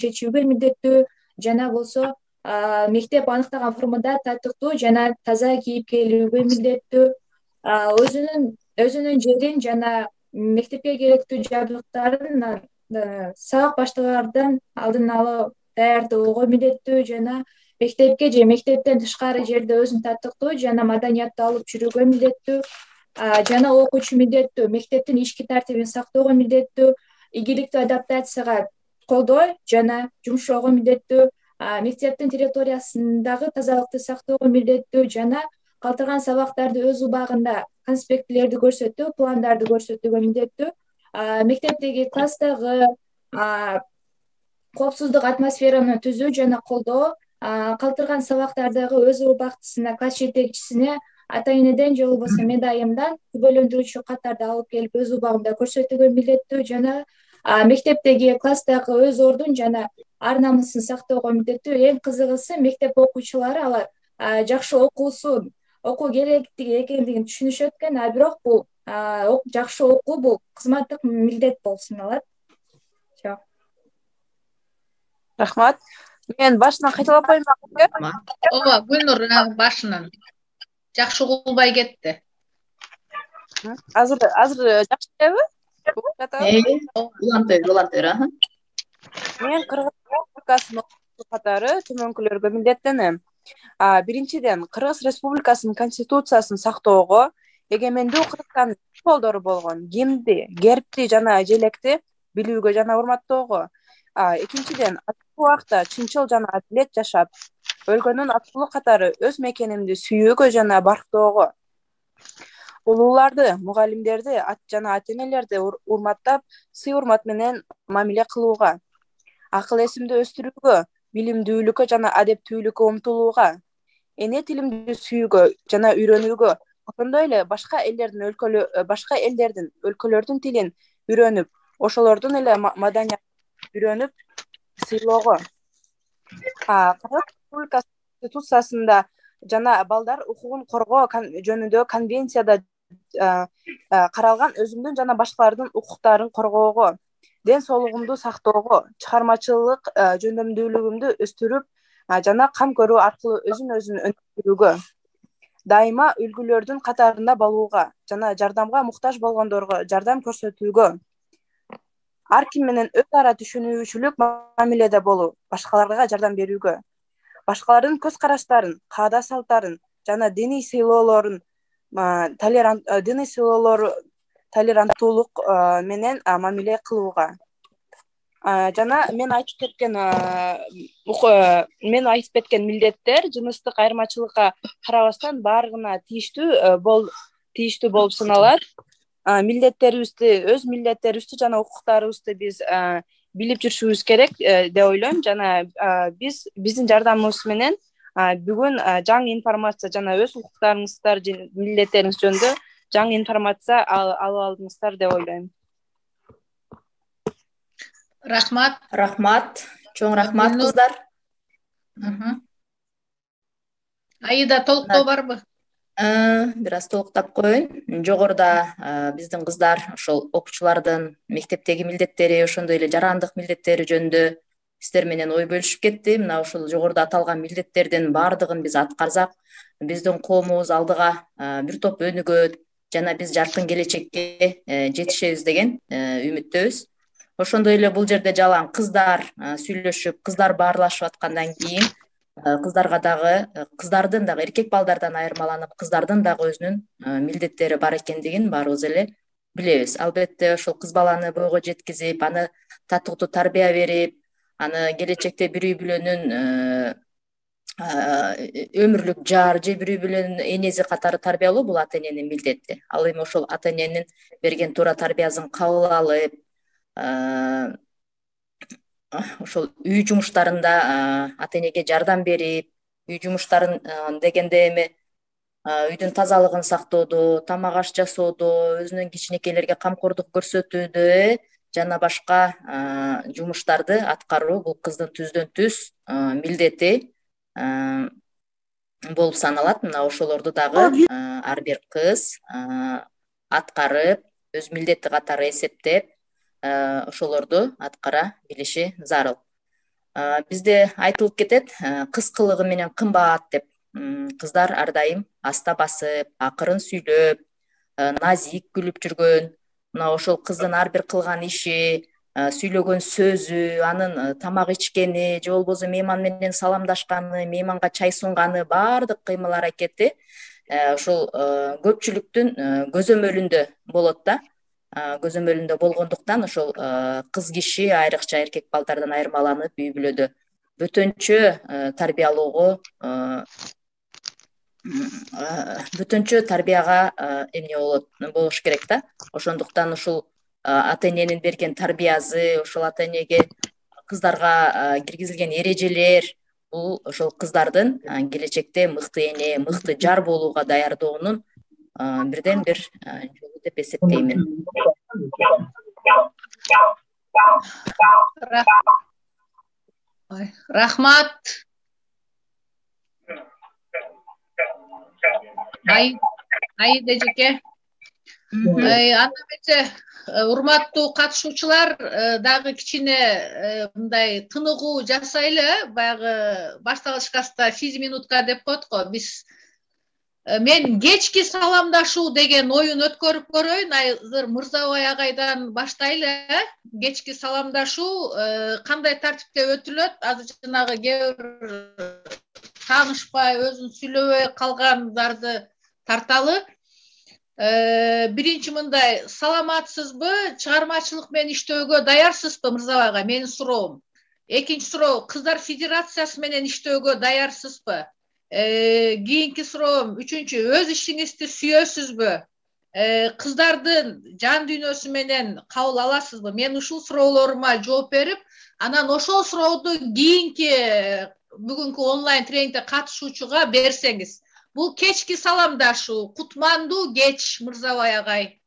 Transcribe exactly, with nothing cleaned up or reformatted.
чечүүгө милдеттүү жана болсо мектеп аныктаган формада татыктуу жана таза кийип келүүгө милдеттүү, өзүнүн өзүнүн жерин жана мектепке керектүү жабдыктарын сабак башталардан алдын ала даярдоого милдеттүү жана мектепке же мектептен тышкары жерде өзүн татыктуу жана маданияттуу алып жүрүүгө милдеттүү жана окуучу милдеттүү мектептин ички тартибин сактоого милдеттүү, ийгиликтүү адаптацияга колдоо жана жумшоого милдеттүү, мектептин территориясындагы тазалыкты сактоого милдеттүү жана калтырган сабактарды өз убагында конспектилерди көрсөтүү, пландарды көрсөтүүгө милдеттүү, мектептеги класстагы коопсуздук атмосфераны түзүү жана колдоо, калтырган сабактардагы өз убактысында класс жетекчисине ата энеден же болбосо медайымдан күбөлөндүрүүчү каттарды алып келип өз убагында көрсөтүүгө милдеттүү жана мектептеги класстагы өз ордун жана ар намысын сактоого милдеттүү. Эң кызыгысы мектеп окуучулары алар жакшы окуусун окуу керектиги экендигин түшүнүшөт экен, а бирок бул жакшы окуу бул кызматтык милдет болуп саналат. Рахмат. Мен башынан кайталап коеюнбу? Ооба, Гүлнур башынан. Жакшы угулбай кетти. Азыр азыр жакшы элеби? Улантыр, улантыр, аха. Мен Кыргыз Республикасынын катары төмөнкүлөргө милдеттенем. Биринчиден, Кыргыз Республикасынын конституциясын сактоого, эгемендүү Кыргызстандын колдору болгон гимнди, гербти жана желекти билүүгө жана урматтоого. Экинчиден, ачык убакта чынчыл жана адилет жашап, өлкөнүн аттуулук катары өз мекенимди сүйүүгө жана барктоого. Улууларды, мугалимдерди жана ата энелерди урматтап, сый-урмат менен мамиле кылууга. Акыл эсимди өстүрүүгө, билимдүүлүккө жана адептүүлүккө умтулууга. Эне тилимди сүйүүгө жана үйрөнүүгө, ошондой эле башка элдердин өлкөлөр башка элдердин өлкөлөрдүн тилин үйрөнүп, ошолордун эле маданиятын үйрөнүп сыйлоого. Кыргыз Республикасынын конституциясында жана балдар укугун коргоо жөнүндө конвенцияда каралган өзүмдүн жана башкалардын укуктарын коргоого, ден соолугумду сактоого, чыгармачылык жөндөмдүүлүгүмдү өстүрүп жана кам көрүү аркылуу өзүн өзүн өнүктүрүүгө, дайыма үлгүлөрдүн катарында болууга жана жардамга муктаж болгондорго жардам көрсөтүүгө, ар ким менен өз ара түшүнүүчүлүк мамиледе болуп, башкаларга жардам берүүгө, башкалардын көз караштарын, каада салттарын жана диний сыйлоолорун толерант диний сыйлоолору толеранттуулук менен мамиле кылууга. Жана мен айтып кеткен мен айтып кеткен милдеттер жыныстык айырмачылыкка карабастан баарыгына тийиштүү бол тийиштүү болуп саналат. Милдеттерибизди, өз милдеттерибизди жана укуктарыбызды биз билип жүрүшүбүз керек деп ойлойм жана биз биздин жардамыбыз менен бүгүн жаңы информация жана өз укуктарыңыздар, милдеттериңиз жөнүндө жаңы информация алып алдыңыздар деп ойлойм. Рахмат. Рахмат. Чоң рахмат кыздар. Аида, толуктоо барбы? Бир аз толуктап коеюн. Жогоруда биздин кыздар ошол окуучулардын мектептеги милдеттери, ошондой эле жарандык милдеттери жөнүндө сиздер менен ой бөлүшүп кетти. Мына ошол жогоруда аталган милдеттердин баардыгын биз аткарсак, биздин коомубуз алдыга бир топ өнүгөт жана биз жаркын келечекке жетишебиз деген үмүттөбүз. Ошондой эле бул жерде жалаң кыздар сүйлөшүп, кыздар баарлашып аткандан кийин кыздарга дагы, кыздардын дагы эркек балдардан айырмаланып, кыздардын дагы өзүнүн милдеттери бар экендигин баарыбыз эле билебиз. Албетте ошол кыз баланы бойго жеткизип, аны татыктуу тарбия берип, аны келечекте бири үй бүлөнүн өмүрлүк жар же бири үй бүлөнүн энеси катары тарбиялоо бул ата эненин милдети. Ал эми ошол ата эненин берген туура тарбиясын кабыл алып, ошол үй жумуштарында ата энеге жардам берип, үй жумуштарын дегенде эми үйдүн тазалыгын сактоодо, тамак аш жасоодо, өзүнүн кичинекейлерге камкордук көрсөтүүдө жана башка жумуштарды аткаруу бул кыздын түздөн түз милдети болуп саналат. Мына ошолорду дагы ар бир кыз аткарып, өз милдети катары эсептеп, ошолорду аткара билиши зарыл. Бизде айтылып кетет, кыз кылыгы менен кымбат деп. Кыздар ар дайым аста басып, акырын сүйлөп, назик күлүп жүргөн. Мына ошол кыздын ар бир кылган иши, сүйлөгөн сөзү, анын тамак ичкени, же болбосо мейман менен саламдашканы, мейманга чай сунганы, баардык кыймыл аракети ушул көпчүлүктүн көзөмөлүндө болот да. Көзөмөлүндө болгондуктан ошол кыз киши айрыкча эркек балдардан айырмаланып үй бүлөдө бөтөнчө тарбиялоого, бөтөнчө тарбияга эмне болот болуш керек да. Ошондуктан ушул ата эненин берген тарбиясы, ошол ата энеге кыздарга киргизилген эрежелер бул ошол кыздардын келечекте мыкты эне, мыкты жар болууга даярдоонун бирден бир жолу деп эсептеймин. Рахмат. Аида эжеке. Анда эмесе, урматтуу катышуучулар, дагы кичине мындай тыныгуу жасайлы. Баягы башталышкаста сегиз минутка деп коет го. Биз мен кечки саламдашуу деген оюн өткөрүп көрөйүн. Азыр Мырзабай агайдан баштайлы. Кечки саламдашуу кандай тартипте өтүлөт? Азыр жанагы кээ бир таанышпай, өзүн сүйлөбөй калгандарды тарталы. Биринчи мындай, саламатсызбы? Чыгармачылык менен иштөөгө даярсызбы, Мырзабай агай? Менин суроом. Экинчи суроо, кыздар федерациясы менен иштөөгө даярсызбы? Кийинки суроом, үчүнчү, өз ишиңизди сүйөсүзбү? Кыздардын жан дүйнөсү менен кабыл аласызбы? Мен ушул суроолорума жооп берип, анан ошол сурооду кийинки бүгүнкү онлайн тренингде катышуучуга берсеңиз. Бул кечки саламдашуу, кутмандуу кеч, Мырзабай агай.